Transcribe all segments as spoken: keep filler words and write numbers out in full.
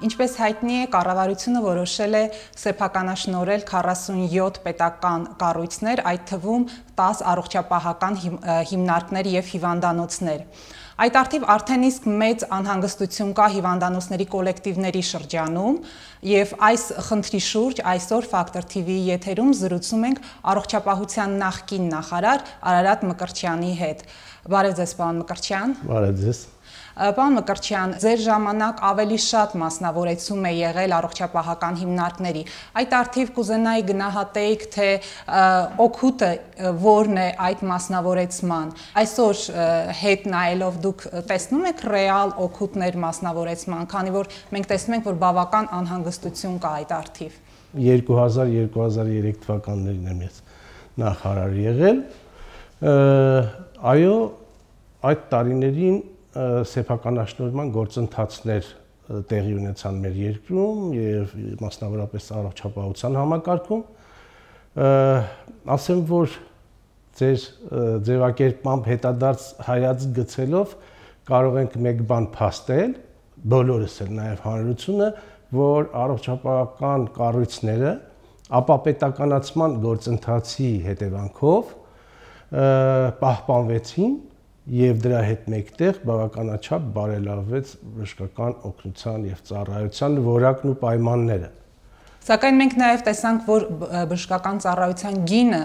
Ինչպես հայտնի է, կառավարությունը որոշել է սեփականաշնորհել քառասունյոթ պետական կառույցներ, այդ թվում տասը առողջապահական հիմնարկներ եւ հիվանդանոցներ։ Այդ արդիվ արդեն իսկ մեծ անհանգստություն կա հիվանդանոցների կոլեկտիվների շրջանում եւ այս խնդրի շուրջ այսօր Factor T V-ի եթերում զրուցում ենք առողջապահության նախկին նախարար Արարատ Մկրտչյանի հետ։ Բարև ձեզ, պարոն Մկրտչյան։ Բարև ձեզ։ Պարոն Մկրտչյան, ձեր ժամանակ ավելի շատ մասնավորեցում է եղել առողջապահական հիմնարկների։ Այդ արդիվ կուզենայի գնահատեիք, թե օգուտը որն է այդ մասնավորեցման։ Այսօր հետ նայելով դուք տեսնում եք ռեալ օգուտներ մասնավորեցման, քանի որ մենք տեսնում ենք, որ բավական անհանգստություն կա այդ արդիվ։ երկու հազար երկու հազար երեք թվականներին եմ ես նախարար եղել։ Այո, այդ տարիներին սեփականաշնորհման գործընթացներ տեղի ունեցան մեր երկրում եւ մասնավորապես առողջապահության համակարգում։ Ասեմ, որ ձեր ձևակերպմամբ հետադարձ հայացք գցելով կարող ենք մեկ բան փաստել, բոլորս էլ նաեւ հանրությունը, որ առողջապահական կառույցները ապապետականացման գործընթացի հետևանքով պահպանվեցին եւ դրա հետ մեկտեղ բավականաչափ բարելավվեց բժշկական օգնության եւ ծառայության որակն ու պայմանները։ Սակայն մենք նաեւ տեսանք, որ բժշկական ծառայության գինը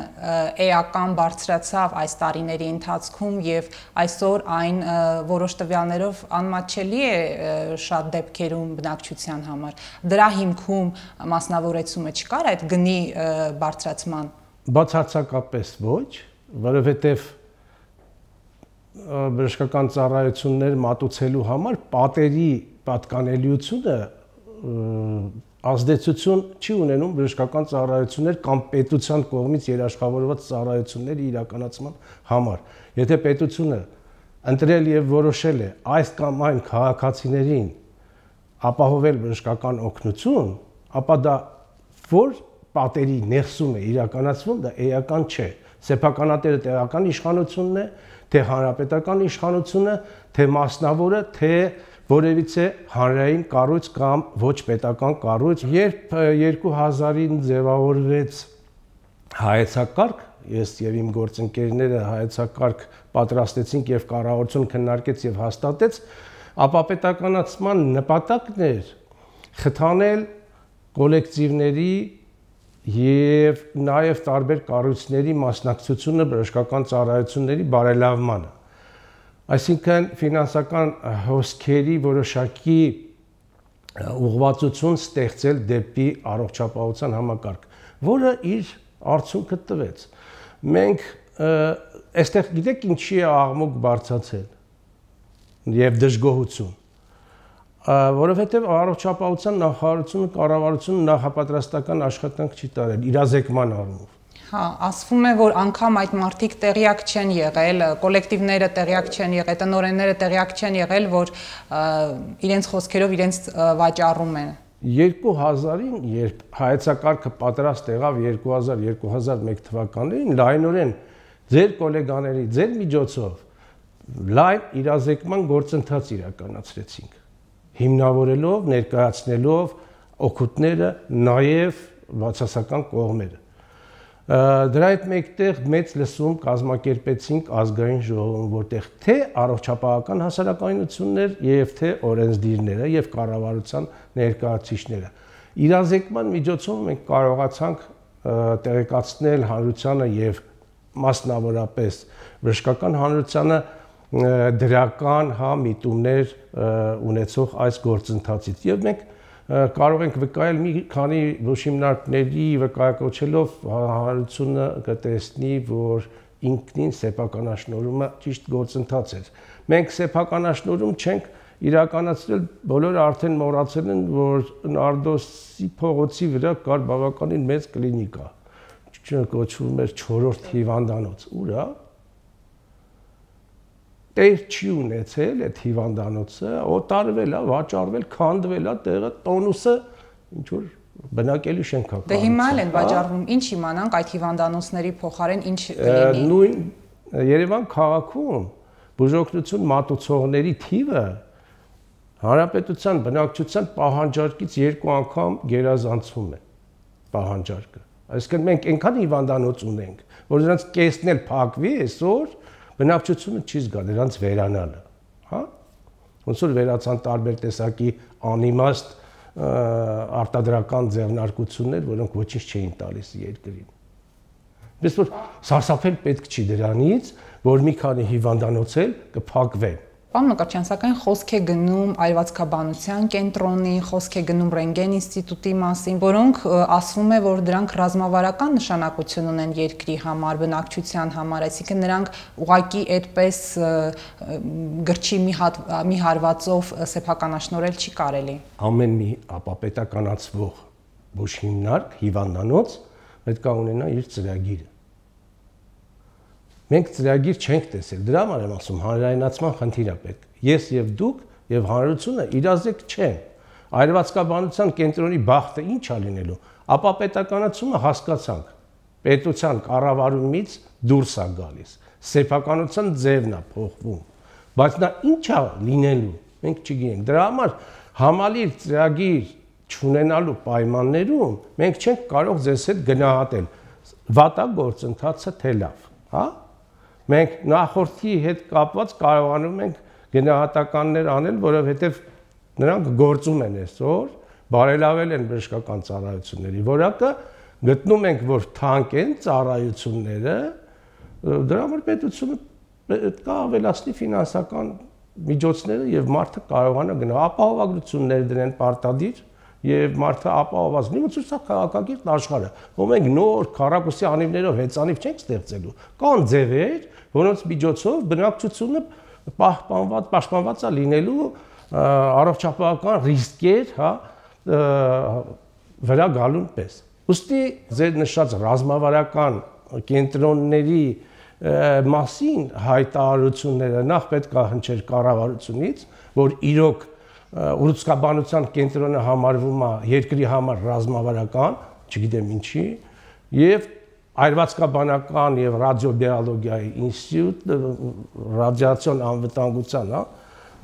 էական բարձրացավ այս տարիների ընթացքում եւ այսօր այն որոշ տվյալներով անմատչելի է շատ դեպքերում բնակչության համար։ Դրա հիմքում մասնավորեցումը չկար այդ գնի բարձրացման։ Բացարձակապես ոչ, որովհետեւ բժշկական ծառայություններ մատուցելու համար պատերի պատկանելիությունը ազդեցություն չի ունենում բժշկական ծառայություններ կամ պետության կողմից երաշխավորված ծառայությունների իրականացման համար։ Եթե պետությունը ընտրել եւ որոշել է այս կամ այն քաղաքացիներին ապահովել բժշկական օգնություն, ապա դա որ պատերի ներսում է իրականացվում, դա էական չէ։ Սեփականատերը տեղական իշխանությունն է, թե հանրապետական իշխանությունը, թե մասնավորը, թե որևիցե հանրային կառույց կամ ոչ պետական կառույց։ Երբ երկու հազարին ձևավորվեց հայեցակարգ, ես եւ իմ գործընկերները հայեցակարգ պատրաստեցինք եւ կառավարությունը քննարկեց եւ հաստատեց, ապապետականացման նպատակն էր խթանել կոլեկտիվների եւ նաեւ տարբեր կառույցների մասնակցությունը բժշկական ծառայությունների բարելավմանը։ Այսինքն ֆինանսական հոսքերի որոշակի ուղղվածություն ստեղծել դեպի առողջապահության համակարգ, որը իր արդյունքը տվեց։ Մենք այստեղ գիտեք ինչի է աղմուկ բարձրացել եւ դժգոհություն, որովհետև առողջապահության նախարարությունը, կառավարությունը նախապատրաստական աշխատանք չի տարել իրազեկման առումով։ Հա, ասվում է, որ անգամ այդ մարդիկ տեղյակ չեն եղել, կոլեկտիվները տեղյակ չեն եղել, տնօրենները տեղյակ չեն եղել, որ իրենց խոսքերով իրենց վաճառում են։ երկու հազարին, երբ հայեցակարգը պատրաստ եղավ երկու հազար երկու հազար մեկ թվականներին, լայնորեն ձեր գոլեգաների, ձեր միջոցով լայն իրազեկման գործընթաց իրականացրեցինք, հիմնավորելով, ներկայացնելով օգուտները, նաև բացասական կողմերը։ Դրա հետ մեկտեղ մեծ լսում կազմակերպեցինք ազգային ժողովում, որտեղ թե առողջապահական հասարակայնություններ եւ թե օրենսդիրները եւ կառավարության ներկայացուցիչները։ Իրազեկման միջոցով մենք կարողացանք տեղեկացնել հանրությանը եւ մասնավորապես բժշկական հանրությանը դրական հա միտումներ ունեցող այս գործընթացից եւ մենք կարող ենք վկայել մի քանի բուժհիմնարկների վկայակոչելով հանրությունը կտեսնի, որ ինքնին սեփականաշնորհումը ճիշտ գործընթաց էր։ Մենք սեփականաշնորհում չենք իրականացրել, բոլորը արդեն մոռացել են, որ Նարդոսի փողոցի վրա կար բավականին մեծ կլինիկա, կոչվում էր չորրորդ հիվանդանոց, ուր է։ Տեր չի ունեցել այդ հիվանդանոցը, օտարվել է, վաճառվել, քանդվել է, տեղը տոնուսը ինչ որ բնակելի շենք է։ Դե հիմա էլ են վաճառվում, ինչ իմանանք այդ հիվանդանոցների փոխարեն ինչ կլինի։ Նույն Երևան քաղաքում բուժօգնություն մատուցողների թիվը Հանրապետության բնակչության պահանջարկից երկու անգամ գերազանցում է պահանջարկը։ Այսինքն մենք այնքան հիվանդանոց ունենք, որ նրանց կեսն էլ փակվի այսօր, բնակչությունը չի զգա նրանց վերանալը, հա? Ոնց որ վերացան տարբեր տեսակի անիմաստ արտադրական ձեռնարկություններ, որոնք ոչինչ չէին տալիս երկրին։ Բայց որ սարսափել պետք չի դրանից, որ մի քանի հիվանդանոց էլ կփակվեն։ Պարոն Մկրտչյան, սակայն խոսք է գնում այրվածքաբանության կենտրոնի, խոսք է գնում Ռենտգեն ինստիտուտի մասին, որոնք ասվում է, որ դրանք ռազմավարական նշանակություն ունեն երկրի համար, բնակչության համար, այսինքն նրանք ուղղակի այդպես գրչի մի, հատ, մի հարվածով սեփականաշնորհել չի կարելի։ Ամեն մի ապապետականացվող ոչ հիմնարկ, հիվանդանոց պետք է ունենա իր ծրագիրը։ Մենք ծրագիր չենք տեսել, դրա համար եմ ասում, հանրայնացման խնդիր է պետք։ Ես եւ դուք եւ հանրությունը իրազեկ չեն։ Այրվածքաբանության կենտրոնի բախտը ինչ է լինելու։ Ապապետականացումը հասկացանք։ Պետության կառավարումից դուրս է գալիս։ Սեփականության ձևն է փոխվում։ Բայց նա ինչ է լինելու, մենք չգիտենք։ Դրա համար համալիր ծրագիր չունենալու պայմաններում մենք չենք կարող ձեզ հետ գնահատել։ Վատա գործընթացը թե լավ, հա? Մենք նախորդի հետ կապված կարողանում ենք գնահատականներ անել, որովհետև նրանք գործում են այսօր, բարելավել են բժշկական ծառայությունների որակը, գտնում ենք, որ թանկ են ծառայությունները, դրա համար պետությունը պետք է ավելացնի ֆինանսական միջոցները եւ մարդը կարողանա գնալ ապահովագրություններ դրեն պարտադիր եւ մարդը ապահովված լինի, ոնց որ քաղաքակիրթ աշխարհը, որ մենք նոր քառակուսի անիվներով հեծանիվ չենք ստեղծելու։ Կան ձևեր, որոնց միջոցով բնակչությունը պահպանված, պաշտպանված է լինելու առողջապահական ռիսկեր, հա, վրա գալուն պես։ Ուստի ձեր նշած ռազմավարական կենտրոնների մասին հայտարարությունները նախ պետք է հնչեր կառավարությունից, որ իրոք ուռուցքաբանության կենտրոնը համարվում է երկրի համար ռազմավարական, չգիտեմ ինչի, եւ այրվածքաբանական եւ ռադիոբիոլոգիայի ինստիտուտ, ռադիացիոն անվտանգության, հա,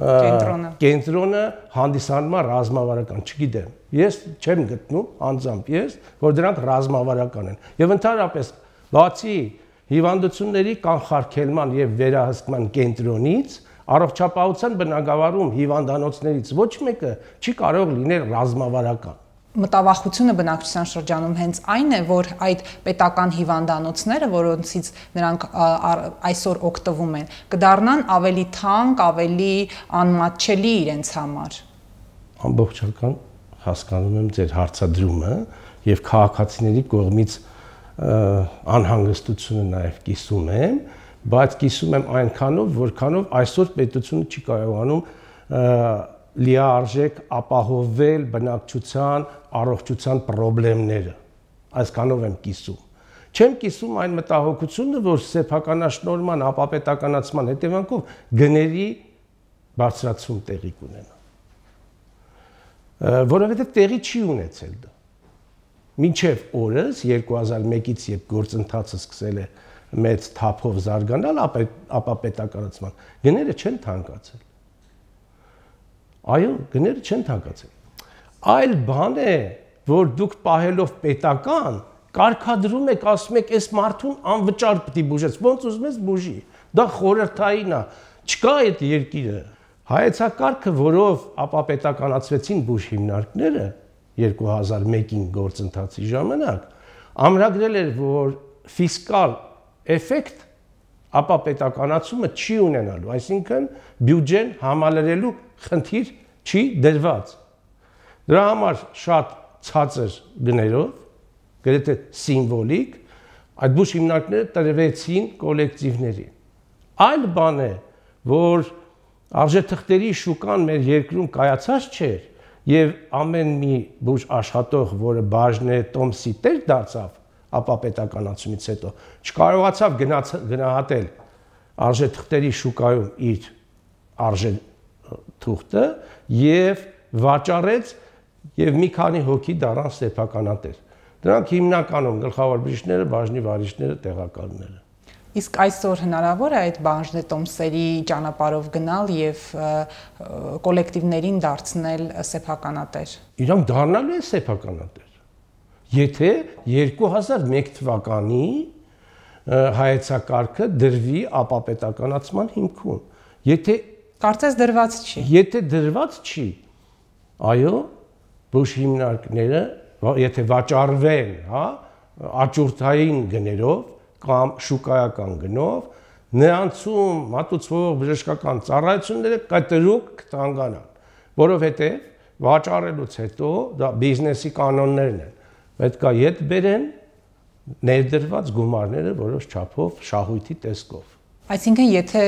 կենտրոնը կենտրոնը հանդիսանում է ռազմավարական, չգիտեմ։ Ես չեմ գտնում անձամբ ես, որ դրանք ռազմավարական են։ Եվ ընդհանրապես բացի հիվանդությունների կանխարգելման եւ վերահսկման կենտրոնից առողջապահության բնագավառում հիվանդանոցներից ոչ մեկը չի կարող լինել ռազմավարական։ Մտավախությունը բնակչության շրջանում հենց այն է, որ այդ պետական հիվանդանոցները, որոնցից նրանք այսօր օգտվում են, կդառնան ավելի թանկ, ավելի անմատչելի իրենց համար։ Ամբողջական հասկանում եմ ձեր հարցադրումը եւ քաղաքացիների կողմից անհանգստությունը նաեւ կիսում եմ, բայց կիսում եմ այնքանով, որքանով այսօր պետությունը չի կարողանում լիարժեք ապահովել բնակչության առողջության խնդիրները։ Այսքանով եմ կիսում։ Չեմ կիսում այն մտահոգությունը, որ սեփականաշնորհման ապապետականացման հետևանքով գների բարձրացում տեղի կունենա։ Որովհետև տեղի չի ունեցել դա։ Մինչև օրս երկու հազար մեկից երբ գործընթացը սկսել է մեծ թափով զարգանալ ապապետականացման, գները չեն թանկացել։ Այո, գները չեն թանկացել։ Այլ բան է, որ դուք պահելով պետական, կարգադրում եք, ասում եք, այս մարդուն անվճար պիտի բուժես, ոնց ուզում ես բուժի։ Դա խորհրդային է, չկա այդ երկիրը։ Հայեցակարգը, որով ապապետականացվեցին բուժ հիմնարկները երկու հազար մեկին գործընթացի ժամանակ, ամրագրել էր, որ ֆիսկալ էֆեկտ ապապետականացումը չի ունենալու, այսինքն բյուջեն համալրելու խնդիր չի դրված։ Դրա համար շատ ցածր գներով, գրեթե սիմվոլիկ, այդ բուժ հիմնարկները տրվեցին կոլեկտիվների։ Այլ բան է, որ արժեթղթերի շուկան մեր երկրում կայացած չէր, եւ ամեն մի բուժ աշխատող, որը բաժնե տոմսի տեր դարձավ ապապետականացումից հետո, չկարողացավ գնահատել արժեթղթերի շուկայում իր արժեթուղթը եւ վաճառեց եւ մի քանի հոգի դառան սեփականատեր։ Դրանք հիմնականում գլխավոր բժիշկները, բաժնի վարիչները, տեղակալները։ Իսկ այսօր հնարավոր է այդ բաժնետոմսերի ճանապարհով գնալ եւ կոլեկտիվներին դարձնել սեփականատեր։ Իրանք դառնալու են սեփականատեր։ Եթե երկու հազար մեկ թվականի հայեցակարգը դրվի ապապետականացման հիմքում։ Եթե կարծես դրված չի։ Եթե դրված չի, այո, բուժ հիմնարկները, եթե վաճառվեն, հա, աճուրդային գներով կամ շուկայական գնով, նրանցում մատուցվող բժշկական ծառայությունները կտրուկ կթանկանան, որովհետև վաճառելուց հետո դա բիզնեսի կանոններն են։ Պետք է ետ բերեն ներդրված գումարները որոշ չափով շահույթի տեսքով։ Այսինքն, եթե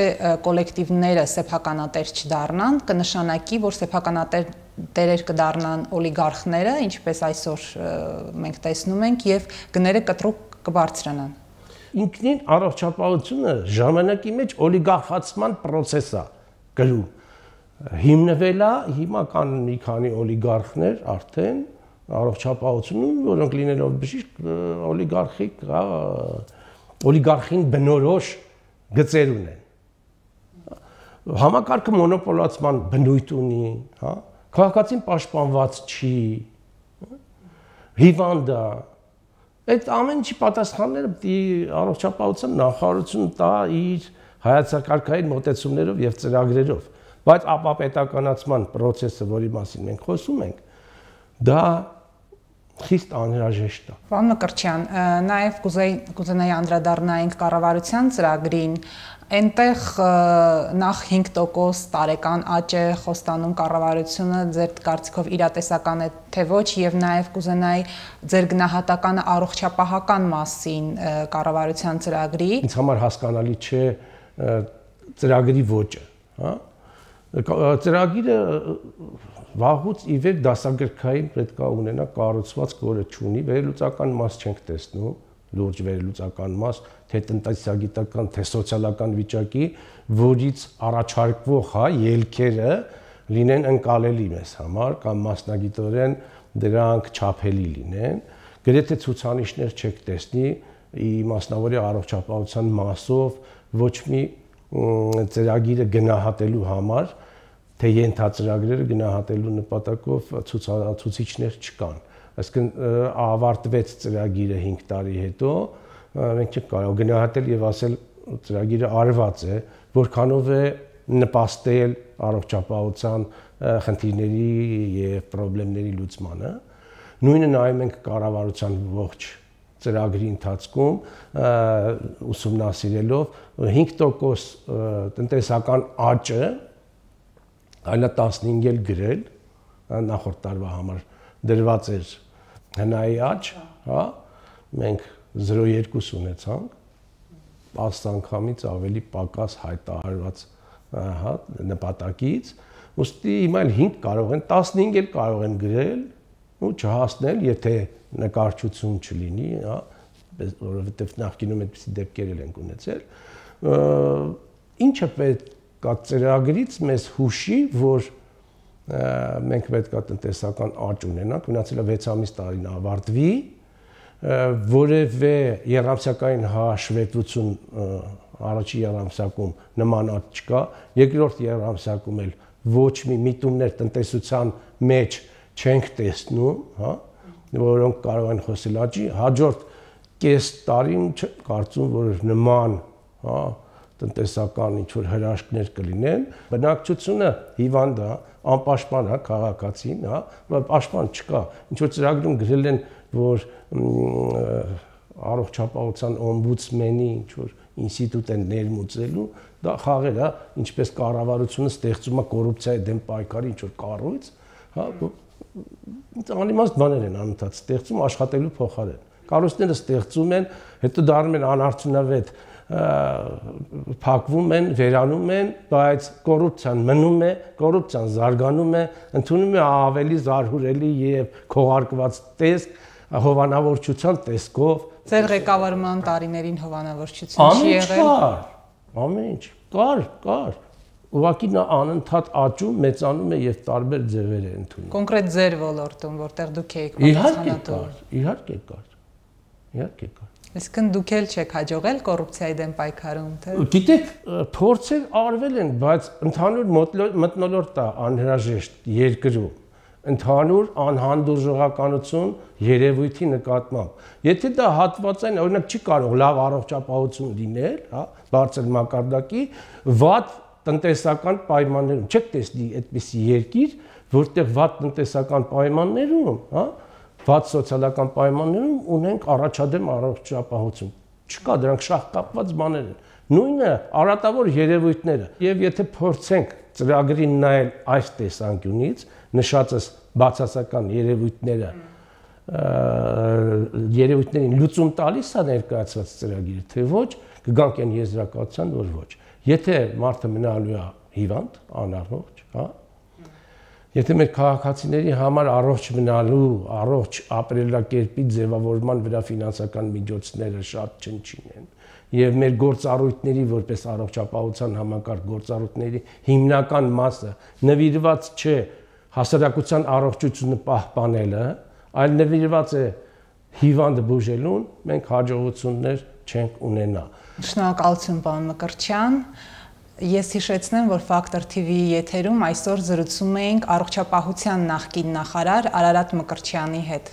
կոլեկտիվները սեփականատեր չդառնան, կնշանակի, որ սեփականատերեր կդառնան օլիգարխները, ինչպես այսօր մենք տեսնում ենք, եւ գները կտրուկ կբարձրանան։ Ինքնին առողջապահությունը ժամանակի մեջ օլիգարխացման process է գրում։ Հիմնվել է հիմա կան մի քանի օլիգարխներ արդեն առողջապահությունում, որոնք լինելով բժիշկ օլիգարխիկ, օլիգարխին բնորոշ գծեր ունեն։ Համակարգը մոնոպոլացման բնույթ ունի, հա, քաղաքացին պաշտպանված չի, հիվանդ է։ Այդ ամեն ինչի պատասխանները պետք է առողջապահության նախարարությունը տա իր հայեցակարգային մոտեցումներով եւ ծրագրերով, բայց ապապետականացման process-ը, որի մասին մենք խոսում ենք, դա խիստ անհրաժեշտ է։ Պարոն Մկրտչյան, նաև կուզենայի անդրադառնայինք կառավարության ծրագրին, այնտեղ նախ հինգ տոկոս տարեկան աճ է խոստանում կառավարությունը, ձեր կարծիքով իրատեսական է թե ոչ, եւ նաև կուզենայի ձեր գնահատականը առողջապահական մասին կառավարության ծրագրի։ Ինձ համար հասկանալի չէ ծրագրի ոճը, հա։ Ծրագիրը վաղուց ի վեր դասագրքային պետք է ունենա կառուցվածք, որը չունի, վերլուծական մաս չենք տեսնում, լուրջ վերլուծական մաս, թե տնտեսագիտական, թե սոցիալական վիճակի, որից առաջարկվող, հա, ելքերը լինեն ընկալելի մեզ համար կամ մասնագիտորեն դրանք չափելի լինեն, գրեթե ցուցանիշներ չեք տեսնի մասնավորի առողջապահության մասով ոչ մի ծրագիրը գնահատելու համար, թե ենթածրագրերը գնահատելու նպատակով ցուցիչներ չկան։ Այսինքն ավարտվեց ծրագիրը հինգ տարի հետո, մենք չենք կարող գնահատել եւ ասել ծրագիրը արված է, որքանով է նպաստել առողջապահության խնդիրների եւ խնդիրների լուծմանը։ Նույնը նայում ենք կառավարության ողջ ծրագրի ընթացքում ուսումնասիրելով հինգ տոկոս տնտեսական աճը այլ տասնհինգ էլ գրել նախորդ տարվա համար դրված էր հնայի աճ, հա, մենք զրո կόμμα երկու ունեցանք, տասը անգամից ավելի պակաս հայտարարված, հա, նպատակից, ուստի հիմա էլ հինգ կարող են, տասնհինգ էլ կարող են գրել ու չհասնել, եթե նկարչություն չլինի, հա, որովհետև նախկինում այդպիսի դեպքեր ենք ունեցել, ինչը պետք է ծրագրից մեզ հուշի, որ մենք պետք է տնտեսական աճ ունենանք, մնացել է վեց ամիս տարին ավարտվի, որևէ երամսյակային հաշվետվություն առաջի երամսյակում նման աճ չկա, երկրորդ երամսյակում էլ ոչ մի միտումներ տնտեսության մեջ չենք տեսնում, հա, որոնք կարող են խոսել աճի, հաջորդ կես տարին կարծում, որ նման, հա, տնտեսական ինչ-որ հրաշքներ կլինեն, բնակչությունը հիվանդ է, անպաշտպան է քաղաքացին, հա, պաշտպան չկա, ինչ-որ ծրագրում գրել են, որ առողջապահության օմբուդսմենի ինչ-որ ինստիտուտ են ներմուծելու, դա խաղեր է, ինչպես կառավարությունը ստեղծում է կոռուպցիայի դեմ պայքարի ինչ-որ կառույց, հա, անիմաստ բաներ են անընդհատ ստեղծում աշխատելու փոխարեն։ Կառույցները ստեղծում են, հետո դառնում են անարդյունավետ, փակվում են, վերանում են, բայց կոռուպցիան մնում է, կոռուպցիան զարգանում է, ընդունում է ավելի զարհուրելի եւ քողարկված տեսք, հովանավորչության տեսքով։ Ձեր ղեկավարման տարիներին հովանավորչություն չի եղել։ Ամեն ինչ կար, կար։ Ուղղակի նա անընդհատ աճում, մեծանում է եւ տարբեր ձևեր է ընդունում։ Կոնկրետ ձեր ոլորտում, որտեղ դուք եք պատասխանատու։ Իհարկե կար, իհարկե կար, իհարկե կար։ Այսինքն դուք էլ չեք հաջողել կոռուպցիայի դեմ պայքարում, թե։ Գիտեք, փորձեր արվել են, բայց ընդհանուր մթնոլորտ է անհրաժեշտ երկրում, ընդհանուր անհանդուրժողականություն երևույթի նկատմամբ։ Եթե դա հատվածային, օրինակ չի կարող լավ առողջապահություն լինել, հա, բարձր մակարդակի, վատ տնտեսական պայմաններում, չեք տեսնի այդպիսի երկիր, որտեղ վատ տնտեսական պայմաններում, հա, վատ սոցիալական պայմաններում ունենք առաջադեմ առողջապահություն։ Չկա, դրանք շահ կապված բաներ են։ Նույնը արատավոր երևույթները։ Եվ եթե փորձենք ծրագրին նայել այս տեսանկյունից, նշածս բացասական երևույթները, երևույթներին լուծում տալիս է ներկայացված ծրագիրը, թե ոչ, կգանք այն եզրակացության, որ ոչ։ Եթե մարդը մնալու է հիվանդ, անառողջ, հա, եթե մեր քաղաքացիների համար առողջ մնալու, առողջ ապրելակերպի ձևավորման վրա ֆինանսական միջոցները շատ չնչին են, եւ մեր գործառույթների որպես առողջապահության համակարգ գործառույթների հիմնական մասը նվիրված չէ հասարակության առողջությունը պահպանելը, այլ նվիրված է հիվանդը բուժելուն, մենք հաջողություններ չենք ունենա։ Շնորհակալություն, պարոն Մկրտչյան։ Ես հիշեցնեմ, որ Factor T V-ի եթերում այսօր զրուցում էինք առողջապահության նախկին նախարար Արարատ Մկրտչյանի հետ։